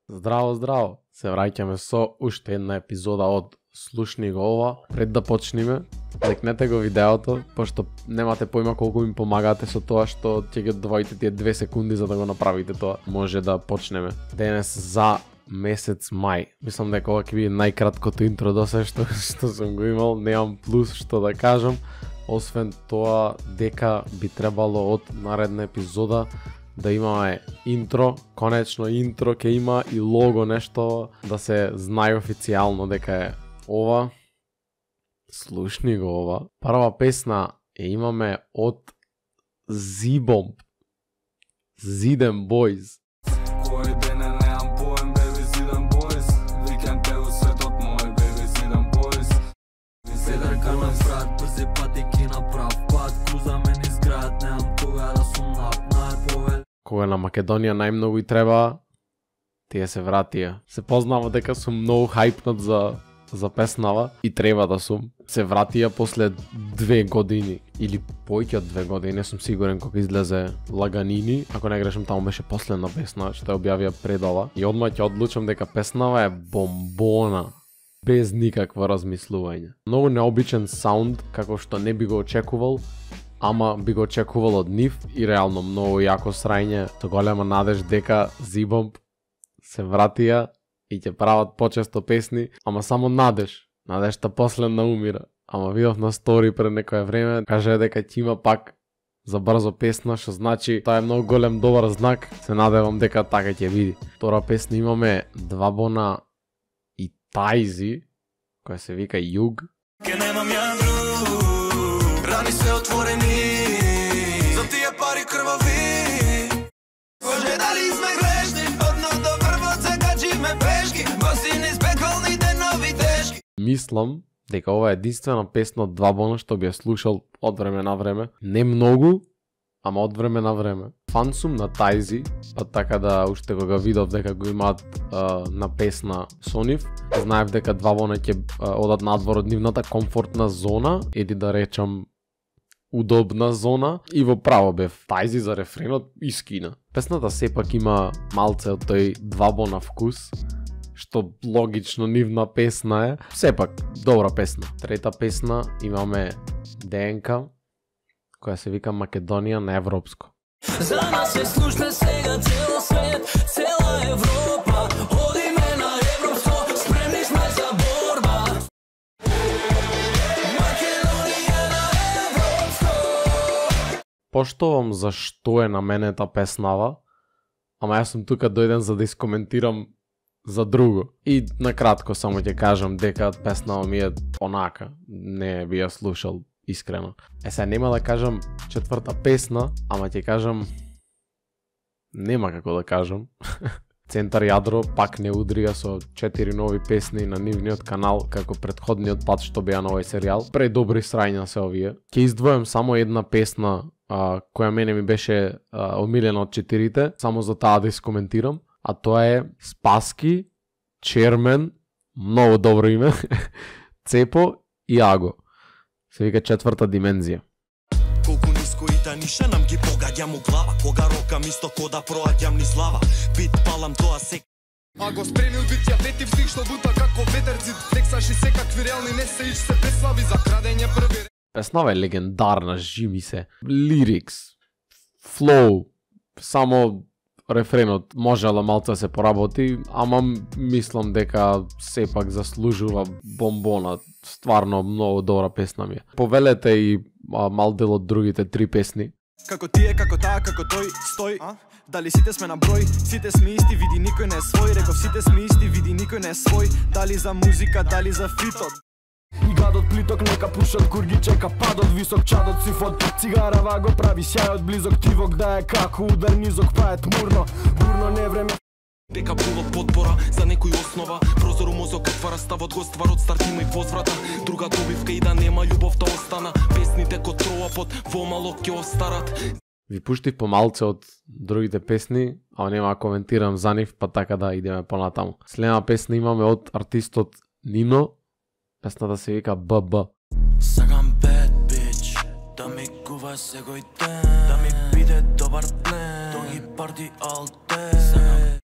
Здраво, здраво! Се враќаме со уште една епизода од Слушни го ова. Пред да почнеме, лекнете го видеото, пошто немате поима колку ми помагате со тоа што ќе ги одвоите тие 2 секунди за да го направите тоа. Може да почнеме. Денес за месец мај. Мислам дека ова ќе биде најкраткото интро до се што сум го имал. Немам плюс што да кажам, освен тоа дека би требало од наредна епизода да имаме интро, конечно интро ќе има и лого, нешто да се знае официјално дека е ова. Слушни го ова. Прва песна имаме од Z-Bomb. Zidem Boys. Кој ден немам поем, baby, Zidem Boys. Викам те у светот мој, baby, Zidem Boys. Седарка на врат, брзи патеки на прав пат. Крузаме низ град, немам кога да сум повел. Кога на Македонија најмногу и треба, тие се вратија. Се познава дека сум многу хајпнат за песнава и треба да сум. Се вратија после 2 години или поеќе од 2 години, не сум сигурен кога излезе Лаганини, ако не грешам таму беше последна песна што ја објавија пред ова. И одма ќе одлучам дека песнава е бомбона, без никакво размислување. Многу необичен саунд, како што не би го очекувал, ама би го очекувал од нив и реално многу јако срајње, со голема надеж дека Z-Bomb се вратија и ќе прават почесто песни, ама само надеж. Надежта последна умира. Ама видов на стори пред некое време, каже дека ќе има пак за брзо песна, што значи тоа е многу голем добар знак. Се надевам дека така ќе биде. Втора песна имаме Двабона и Тајзи, која се вика Југ. Ке немам ја друг, рани се отворени, за тие пари крвави. Боже, дали сме грешни, одно до врвот се качиме пешки, босини с пеколни денови тешки. Мислам дека ова е единствена песна од Двабона што би ја слушал од време на време. Не многу, ама од време на време. Фан сум на Тајзи, па така да уште кога видов дека го имаат на песна со нив, знаев дека Двабона ќе одат надвор од нивната комфортна зона, или да речам удобна зона, и во право бев. Тајзи за рефренот искина. Песната сепак има малце од тој Двабона вкус, што логично нивна песна е. Сепак, добра песна. Трета песна имаме ДНК, која се вика Македонија на европско. За нас е слушна сега цел свет, цела Европа, одиме на европско, спремни сме за борба. Македонија на европско. Поштовам зашто е наменета песнава, ама јас сум тука дојден за да искоментирам за друго. И накратко само ќе кажам дека песнава ми е онака, не би ја слушал искрено. Сега нема да кажам четврта песна, ама ќе кажам, нема како да кажам. Центар Јадро пак не удрија со 4 нови песни на нивниот канал, како претходниот пат што беа на овој серијал. Предобри срања се овие. Ќе издвојам само една песна која мене ми беше омилена од 4-те, само за таа да искоментирам, а тоа е Спаски, Чермен, многу добро име, Цепо и Аго. Се вика Четврта димензија. Колку ниско и да ниша нам ги погаѓам у глава, кога рокам исто кода проаѓам низ лава. Бит палам тоа се. А го спремил бит ја ветив стих што бута како ветерцит, флексаш и секакви реални не се ич се преслави за крадење први. Песнава е легендарна, жими се. Лирикс, флоу, само рефренот можела малце да се поработи, ама мислам дека сепак заслужува бомбона. Стварно многу добра песна ми е. Повелете и мал дел од другите 3 песни. Како тие, како таа, како тој, стој. Дали сите сме на број, сите сме исти, види никој не е свој. Реков сите сме исти, види никој не е свој. Дали за музика, дали за фитот. И гадот плиток нека пушат курги, чека падот висок чадот сифот. Цигарава го прави сјајот близок, тивок да е како удар низок, па е тмурно, бурно не време. Дека було подбора за некој основа, прозор у мозок отвара ставот го стварот, старт има и возврата. Друга добивка и да нема љубов да остана, песните ко троапот во мало ќе остарат. Ви пуштив помалце од другите песни, а нема да коментирам за нив, па така да идеме понатаму. Следна песна имаме од артистот Нино. Песната се вика ББ. Сакам bad bitch, да ми кува секој ден, да ми биде добар плен, тоги парти all day. Сакам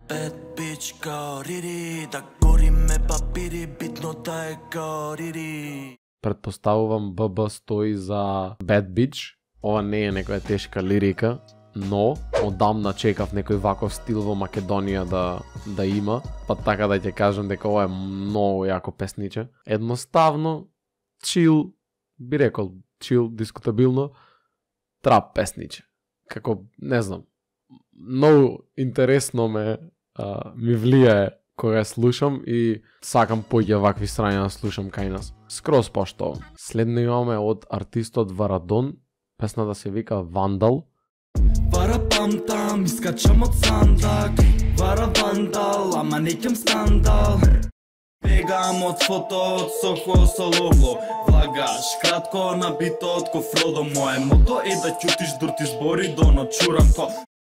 bad bitch, bitch kao Riri, да гориме папири, битно да е kao Riri. Предпоставувам ББ стои за Bad Bitch. Ова не е некоја тешка лирика, но одамна чекав некој ваков стил во Македонија да има, па така да ќе кажам дека ова е многу јако песниче. Едноставно, чил, би рекол, чил, дискутабилно, трап песниче. Како, не знам, многу интересно ми влијае кога слушам и сакам поќе вакви страни да слушам кај нас. Скроз поштовам. Следно имаме од артистот Варадон, песната се вика Вандал. Вара памтам, искачам од сандак. Вара вандал, ама неќам скандал. Бегам од фото, од Сохо со лого. Влагаш, кратко набито од ко Фродо. Моje мото е да ќутиш дурти збори до ночурам ко.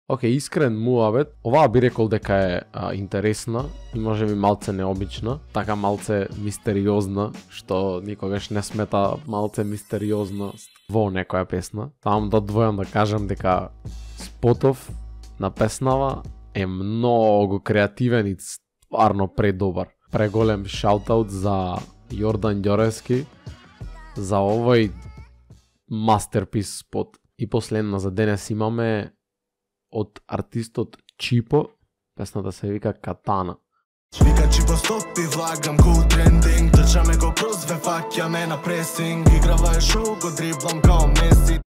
Океј, искрен муабет. Оваа би рекол дека е интересна и може би малце необична, така малце мистериозна, што никогаш не смета малце мистериозност во некоја песна. Таму да двојам да кажам дека спотов на песнава е многу креативен и стварно предобар. Преголем шаутаут за Јордан Ѓоревски за овој мастерпис спот. И последна за денес имаме од артистот Чипо, песната се вика Катана. Вика Чипо стопи, влагам го трендинг, трчаме го кроз ве, факјаме на пресинг, играва е шоу, го дриблам као Меси.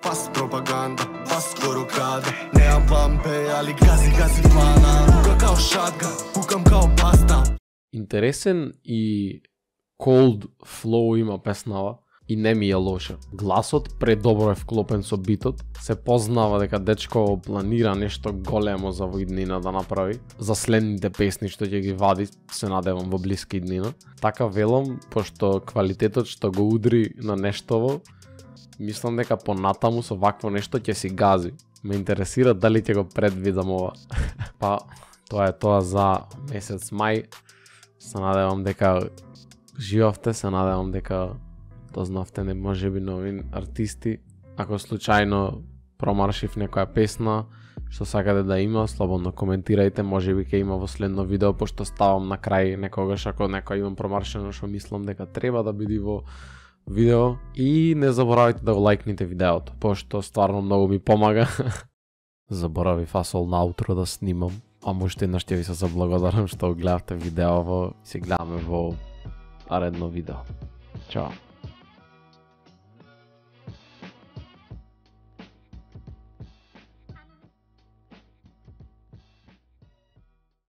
Пас пропаганда, пас корукада, неам пампе, али гази плана, пука као шатга, пукам као паста. Интересен и cold flow има песнава и не ми е лоша. Гласот предобро е вклопен со битот, се познава дека дечко планира нешто големо за во иднина да направи. За следните песни што ќе ги вади, се надевам во блиска иднина. Така велам, пошто квалитетот што го удри на нештово, мислам дека понатаму со вакво нешто ќе си гази. Ме интересира дали ќе го предвидам ова. Па, тоа е тоа за месец мај. Се надевам дека живавте, се надевам дека дознавте не може би нови артисти. Ако случајно промаршив некоја песна што сакате да има, слободно коментирајте, може би ќе има во следно видео, пошто ставам на крај некогаш ако некој имам промаршено што мислам дека треба да биде во видео. И не заборавајте да го лајкнете видеото, пошто стварно многу ми помага. Заборавив фасол на аутро да снимам, а уште еднаш ќе ви се заблагодарам што гледавте видеово и се гледаме во наредно видео. Чао!